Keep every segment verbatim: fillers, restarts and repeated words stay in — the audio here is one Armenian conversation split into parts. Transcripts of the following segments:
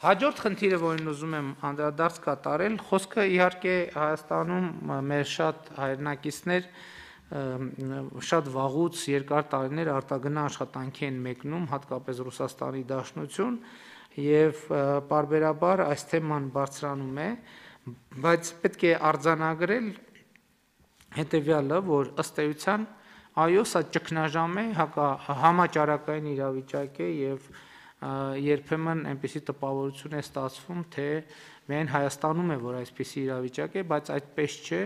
Հաջորդ խնդիրը, որին ուզում եմ անդրադարձ կատարել, խոսքը իհարկե Հայաստանում մեր շատ հայրենակիցներ շատ վաղուց երկար տարիներ արտագնա աշխատանքի են մեկնում, հատկապես Ռուսաստանի Դաշնություն, եւ պարբերաբար այս թեման բարձրանում է, բայց պետք է արձանագրել հետեւյալը, որ ըստ էության այո, սա ճգնաժամ է, համաճարակային իրավիճակ է եւ երբեմն այնպիսի տպավորություն է ստացվում, թե միայն Հայաստանում է, որ այսպիսի իրավիճակ է, բայց այդպես չէ,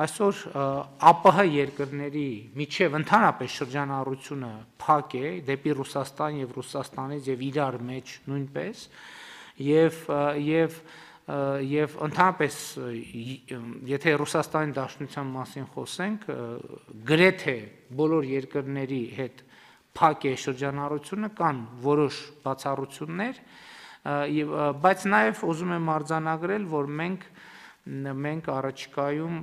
այսօր ԱՊՀ երկրների միջև ընդհանրապես շրջանառությունը փակ է դեպի Ռուսաստան եւ Ռուսաստանից եւ իրար մեջ նույնպես եւ եւ եւ ընդհանրապես եթե Ռուսաստանի Դաշնության մասին խոսենք, գրեթե բոլոր երկրների հետ փակ է շրջանառությունը, կան որոշ բացառություններ, բայց նաև ուզում եմ արձանագրել, որ մենք մենք առաջիկայում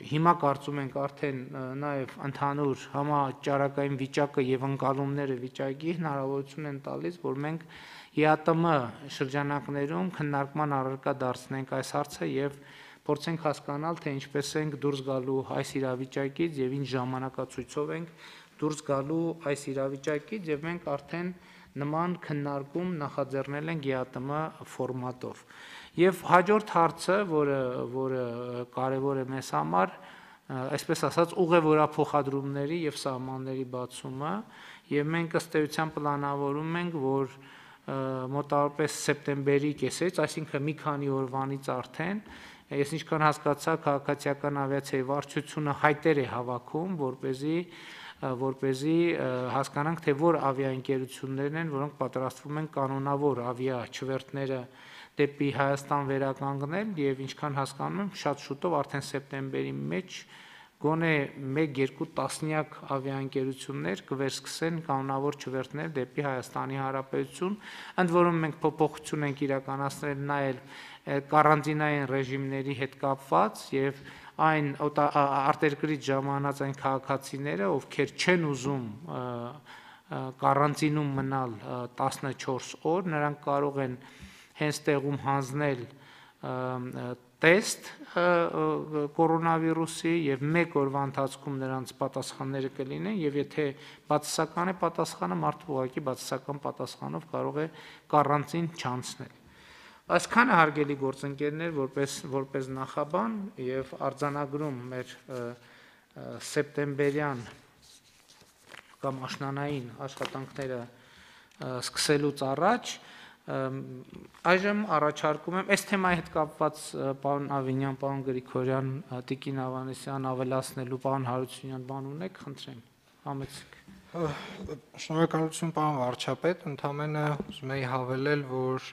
հիմա կարծում ենք արդեն նաև ընդհանուր համաճարակային վիճակը եւ ընկալումները վիճակի հնարավորություն են տալիս, որ մենք ԵԱՏՄ շրջանակներում քննարկման առարկա դարձնենք այս հարցը եւ փորձենք հասկանալ, թե ինչպես ենք դուրս գալու այս իրավիճակից եւ ինչ ժամանակացույցով ենք դուրս գալու այս իրավիճակից եւ մենք արդեն նման քննարկում նախաձեռնել ենք ԵԱՏՄ ֆորմատով։ Եվ հաջորդ հարցը, որը որը կարևոր է մեզ համար, այսպես ասած, ուղևորափոխադրումների եւ սահմանների բացումը, եւ մենք ըստ էության պլանավորում ենք, որ մոտավորապես սեպտեմբերի կեսերից, այսինքն մի քանի օրվանից արդեն, ես ինչքան հասկացա, քաղաքացիական ավիացիայի վարչությունը հայտեր է հավաքում, որպեսզի որպեսզի հասկանանք, թե որ ավիաընկերություններն են, որոնք պատրաստվում են կանոնավոր ավիա չվերթները դեպի Հայաստան վերականգնել եւ ինչքան հասկանում եմ, շատ շուտով արդեն սեպտեմբերի մեջ գոնե մեկ-երկու տասնյակ ավիաընկերություններ կվերսկսեն կանոնավոր չվերթներ դեպի Հայաստանի Հանրապետություն, ընդ որում մենք փոփոխություն ենք իրականացնել նաեւ կարանտինային ռեժիմների հետ կապված եւ այն արտերկրից ժամանած այն քաղաքացիները, ովքեր չեն ուզում կարանտինում մնալ տասնչորս օր, նրանք կարող են հենց տեղում հանձնել տեստ կորոնավիրուսի եւ մեկ օրվա ընթացքում նրանց պատասխանները կլինեն եւ եթե բացասական է պատասխանը, մարդը ուղղակի բացասական պատասխանով կարող է կարանտին չանցնել։ Այսքանը հարգելի գործընկերներ, որպես որպես նախաբան եւ արձանագրում մեր սեպտեմբերյան կամ աշնանային աշխատանքները սկսելուց առաջ այժմ առաջարկում եմ այս թեմայի հետ կապված պարոն Ավինյան, պարոն Գրիգորյան, Տիկին Ավանեսյան ավելացնելու, պարոն Հարությունյան բան ունեք, խնդրեմ, համեցեք։ Շնորհակալություն պարոն վարչապետ, ընդամենը ուզում եի հավելել, որ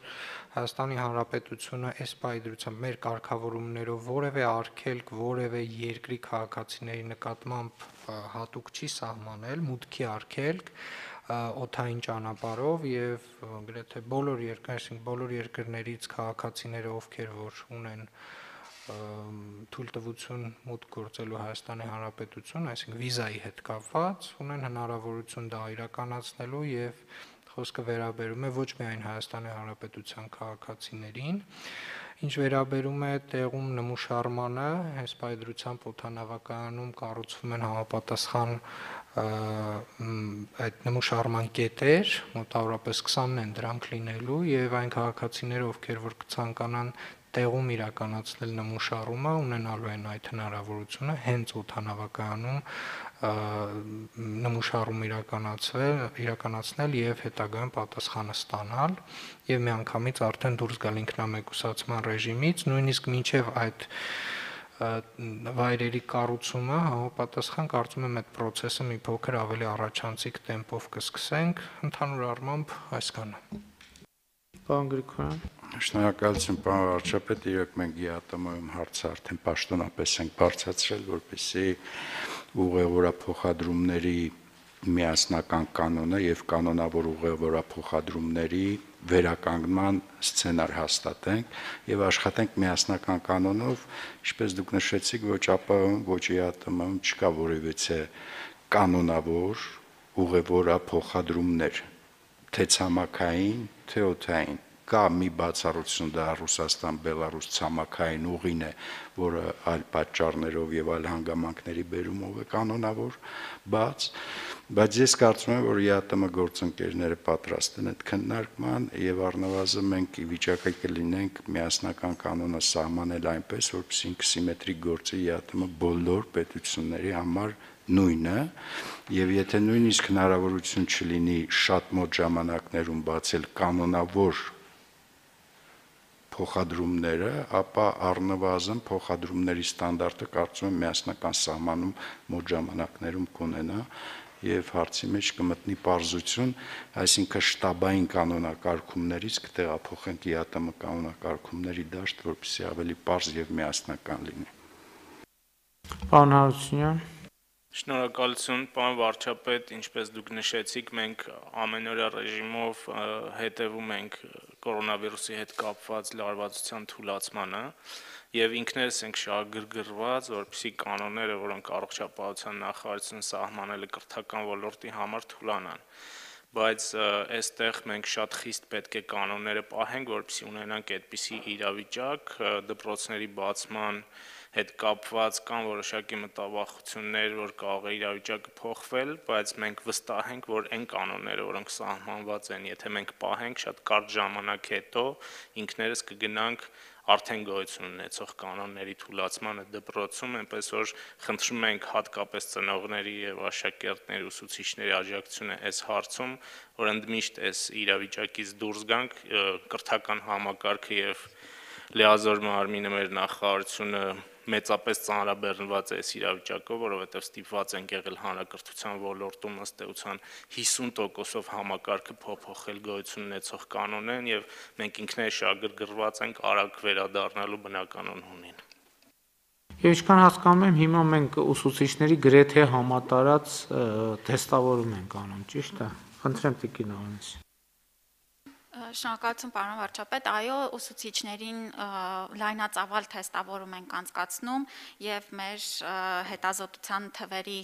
Հայաստանի Հանրապետությունը այս պայդրությամբ մեր կարգավորումներով որևէ արգելք, որևէ երկրի քաղաքացիների նկատմամբ հատուկ չի սահմանել, մուտքի արգելք օդային ճանապարհով եւ գրեթե բոլոր երկրներ, բոլոր երկրներից քաղաքացիները, ովքեր որ ունեն թույլտվություն մուտք գործելու Հայաստանի Հանրապետություն, այսինքն վիզայի հետ կապված, ունեն հնարավորություն դա իրականացնելու եւ խոսքը վերաբերում է ոչ միայն Հայաստանի Հանրապետության քաղաքացիներին, ինչ վերաբերում է տեղում նմուշարմանը, այս պայդրությամբ օդանավակայանում կառուցվում են համապատասխան այդ նմուշարման կետեր, մոտավորապես քսանն են դրանք լինելու եւ այն քաղաքացիները, ովքեր որ կցանկանան տեղում իրականացնել նմուշարումը, ունենալու են այդ հնարավորությունը հենց օդանավակայանում նմուշարում իրականացվել, իրականացնել եւ հետագայում պատասխանը ստանալ եւ միանգամից արդեն դուրս գալ ինքնամեկուսացման ռեժիմից, նույնիսկ մինչեւ այդ վայրերի կառուցումը համապատասխան կարծում եմ այդ process-ը մի փոքր ավելի առաջանցիկ տեմպով կսկսենք, ընդհանուր առմամբ այսքանը։ Պարոն Գրիգորյան։ Շնորհակալություն պարոն վարչապետ, իրոք մենք ԵԱՏՄ-ում հարցը արդեն պաշտոնապես ենք բարձրացրել, որպեսզի ուղևորափոխադրումների միասնական կանոնը եւ կանոնավոր ուղևորափոխադրումների վերականգնման սցենար հաստատենք եւ աշխատենք միասնական կանոնով, ինչպես դուք նշեցիք, ոչ ԱՊՀ-ում, ոչ ԵԱՏՄ-ում չկա որևիցե կանոնավոր ուղևորափոխադրումներ, թե ցամաքային, թե օդային, կա մի բացառություն, դա Ռուսաստան-Բելարուս ցամաքային ուղին է, որը այլ պատճառներով եւ այլ հանգամանքների բերումով է կանոնավոր բաց, բայց ես կարծում եմ, որ ԵԱՏՄ գործընկերները պատրաստ են այդ քննարկման եւ առնվազն մենք ի վիճակի կլինենք միասնական կանոնը սահմանել այնպես, որպեսզի ինքը սիմետրիկ գործի ԵԱՏՄ բոլոր պետությունների համար նույնը, եւ եթե նույնիսկ հնարավորություն չլինի շատ մոտ ժամանակներում բացել կանոնավոր փոխադրումները, ապա առնվազն փոխադրումների ստանդարտը կարծում եմ միասնական սահմանում մոտ ժամանակներում կունենա եւ հարցի մեջ կմտնի պարզություն, այսինքն շտաբային կանոնակարգումներից կտեղափոխենք ԵԱՏՄ կանոնակարգումների դաշտ, որպեսզի ավելի պարզ եւ միասնական լինի։ Պարոն Հարությունյան, Շնորհակալություն, պարոն վարչապետ, ինչպես դուք նշեցիք, մենք ամենօրյա ռեժիմով հետևում ենք կորոնավիրուսի հետ կապված լարվածության թուլացմանը եւ ինքներս ենք շահագրգռված, որպեսզի կանոնները, որոնք առողջապահության նախարարությունը սահմանել է կրթական ոլորտի համար, թուլանան։ Բայց այստեղ մենք շատ խիստ պետք է կանոնները պահենք, որպեսզի ունենանք այդպիսի իրավիճակ դպրոցների բացման հետ կապված կան որոշակի մտավախություններ, որ կարող է իրավիճակը փոխվել, բայց մենք վստահ ենք, որ այն կանոնները, որոնք սահմանված են, եթե մենք պահենք շատ կարճ ժամանակ հետո, ինքներս կգնանք արդեն գոյություն ունեցող կանոնների թուլացմանը դպրոցում, այնպես որ խնդրում ենք հատկապես ծնողների եւ աշակերտների ուսուցիչների աջակցությունը այս հարցում, որ ընդմիշտ այս իրավիճակից դուրս գանք, կրթական համակարգը եւ լիազոր մարմինը մեր նախարարությունը մեծապես ծանրաբեռնված է այս իրավիճակով, որովհետև ստիպված ենք եղել հանրակրթության ոլորտում ըստ էության հիսուն տոկոսով համակարգը փոփոխել գոյություն ունեցող կանոնեն եւ մենք ինքներս շահագրգռված ենք արագ վերադառնալու բնականon հունին։ Եվ ինչքան հասկանում եմ, հիմա մենք ուսուցիչների գրեթե համատարած թեստավորում ենք անում, ճիշտ է։ Խնդրեմ Տիկին Ավանեսյան։ Շնորհակալություն պարոն վարչապետ, այո, ուսուցիչներին լայնածավալ թեստավորում ենք անցկացնում եւ մեր հետազոտության թվերի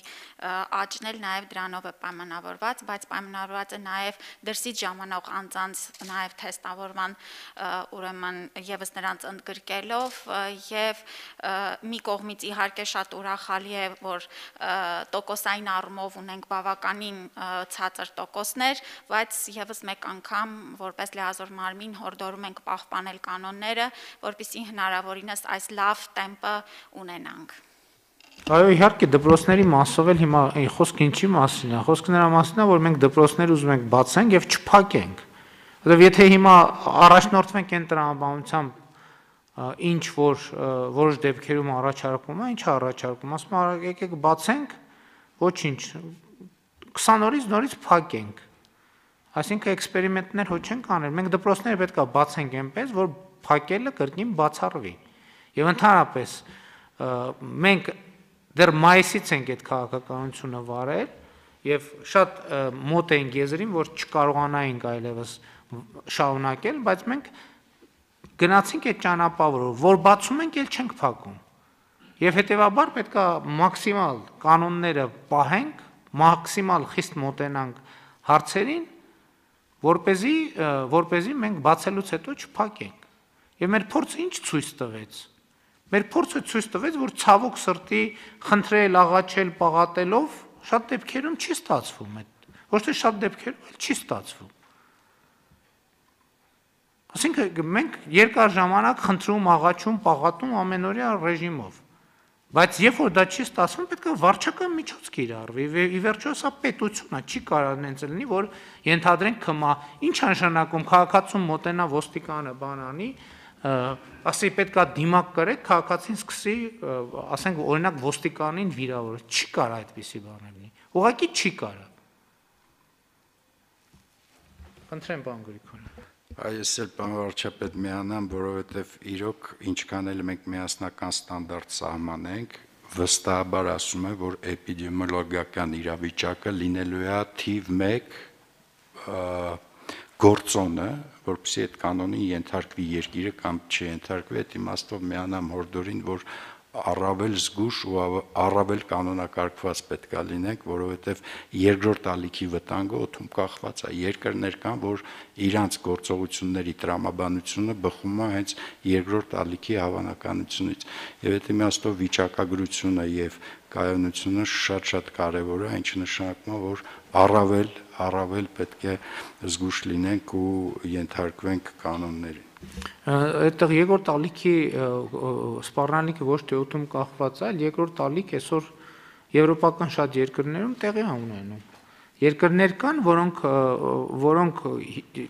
աճն էլ նաեւ դրանով է պայմանավորված, բայց պայմանավորված է նաեւ դրսից ժամանող անձանց նաեւ թեստավորման ուրեմն եւս նրանց ընդգրկելով եւ մի կողմից իհարկե շատ ուրախալի է, որ տոկոսային առումով ունենք բավականին ցածր տոկոսներ, բայց եւս մեկ անգամ որպես լիազոր մարմին հորդորում ենք պահպանել կանոնները, որպեսզի հնարավորինս այս լավ տեմպը ունենանք։ Այո, իհարկե դպրոցների մասով էլ հիմա խոսքը ինչի մասին է, խոսքը նրա մասին է, որ մենք դպրոցներ ուզում ենք բացենք եւ չփակենք։ Որովհետեւ եթե հիմա առաջնորդվենք այն տրամաբանությամբ, ինչ որ որոշ դեպքերում առաջարկում է, ինչ է առաջարկում, ասում է եկեք բացենք, ոչինչ, քսան օրից նորից փակենք։ Այսինքն էքսպերիմենտներ հո չենք անել, մենք դպրոցները պետք է բացենք այնպես, որ փակելը կրկին բացառվի։ Եվ ընդհանրապես մենք դեռ մայիսից ենք այդ քաղաքականությունը վարել եւ շատ մոտ ենք եզրին, որ չկարողանայինք այլևս շարունակել, բայց մենք գնացինք այդ ճանապարհով, որ բացում ենք, ել չենք փակում։ Եվ հետեւաբար պետք է մաքսիմալ կանոնները պահենք, մաքսիմալ խիստ մոտենանք հարցերին, որպեսզի որպեսզի մենք բացելուց հետո չփակենք։ Եվ մեր փորձը ինչ ցույց տվեց։ Մեր փորձը ցույց տվեց, որ ցավոք սրտի խնդրել, աղաչել, պաղատելով շատ դեպքերում չի ստացվում այդ։ Ոչ թե շատ դեպքերում, այլ չի ստացվում։ Այսինքն մենք երկար ժամանակ խնդրում, աղաչում, պաղատում ամենօրյա ռեժիմով։ Բայց երբ որ դա չի ստացվում, պետք է վարչական միջոց կիրառվի։ Ի վերջո սա պետություն է, չի կարող նենց լինի, որ ենթադրենք ԿՄԱ, ինչ նշանակում քաղաքացուն մոտենա ոստիկանը բանանի, ասի պետք է դիմակ կրեք, քաղաքացին սկսի, ասենք օրինակ ոստիկանին վիրավորել, չի կարող այդպիսի բան լինի։ Ուղղակի չի կարող։ Խնդրեմ պարոն Գրիգորյան։ Այս էլ պարոն վարչապետ միանամ, որովհետև իրոք ինչքան էլ մենք միասնական ստանդարտ սահմանենք, վստահաբար ասում եմ, որ էպիդեմիոլոգիական իրավիճակը լինելու է թիվ մեկ գործոնը, որպեսզի այդ կանոնին ենթարկվի երկիրը կամ չենթարկվի, այդ իմաստով միանամ հորդորին, որ առավել զգուշ ու առավել կանոնակարգված պետք է լինենք, որովհետև երկրորդ ալիքի վտանգը օդում կախված է։ Երկրներ կան, որ իրանց գործողությունների տրամաբանությունը բխում է հենց երկրորդ ալիքի հավանականությունից։ Եվ այդ իմաստով վիճակագրությունը եւ կայունությունը շատ-շատ կարեւոր է, ինչը նշանակում է, որ առավել առավել պետք է զգուշ լինենք ու ենթարկվենք կանոններին։ Այդտեղ երկրորդ ալիքի սպառնալիքը ոչ թե օդում կախված է, այլ երկրորդ ալիք այսօր եվրոպական շատ երկրներում տեղի է ունենում։ Երկրներ կան, որոնք որոնք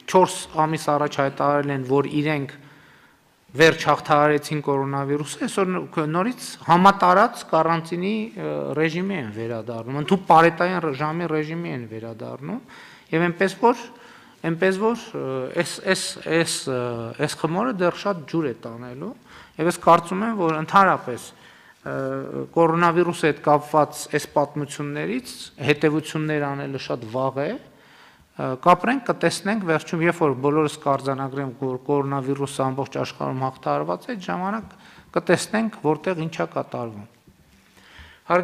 չորս ամիս առաջ հայտարարել են, որ իրենք վերջ հաղթահարեցին կորոնավիրուսը, այսօր նորից համատարած կարանտինի ռեժիմի են վերադառնում, ընդհանուր պարետային ժամի ռեժիմի են վերադառնում, եւ այնպես որ այնպես որ այս այս այս այս խմորը դեռ շատ ջուր է տանելու, եւ ես կարծում եմ, որ ընդհանրապես կորոնավիրուսի հետ կապված այս պատմություններից հետևություններ անելը շատ վաղ է, կապրենք, կտեսնենք վերջում, երբ որ բոլորս կարձանագրենք, որ կորոնավիրուսը ամբողջ աշխարհում հաղթահարված է, այդ ժամանակ կտեսնենք, որտեղ ինչա կատարվում։